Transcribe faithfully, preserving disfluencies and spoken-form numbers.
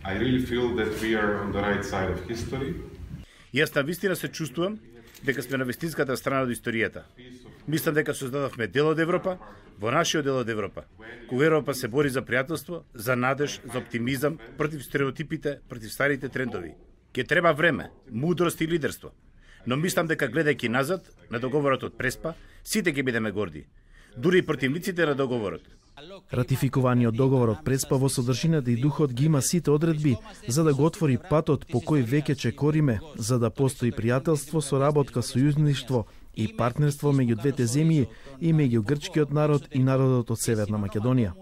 I really feel that we are on the right side of history. Јас навистина се чувствувам дека сме на вистинската страна од историјата. Мислам дека создадовме дел од Европа, во нашиот дел од Европа, кога Европа се бори за пријателство, за надеж, за оптимизам, против стереотипите, против старите трендови. Ке треба време, мудрост и лидерство. Но мислам дека гледајќи назад на договорот од Преспа, сите ќе бидеме горди, дури и противниците на договорот. Ратификуваниот договор од Преспа во содржината и духот ги има сите одредби за да го отвори патот по кој веќе чекориме, за да постои пријателство, соработка, сојузништво и партнерство меѓу двете земји и меѓу грчкиот народ и народот од Северна Македонија.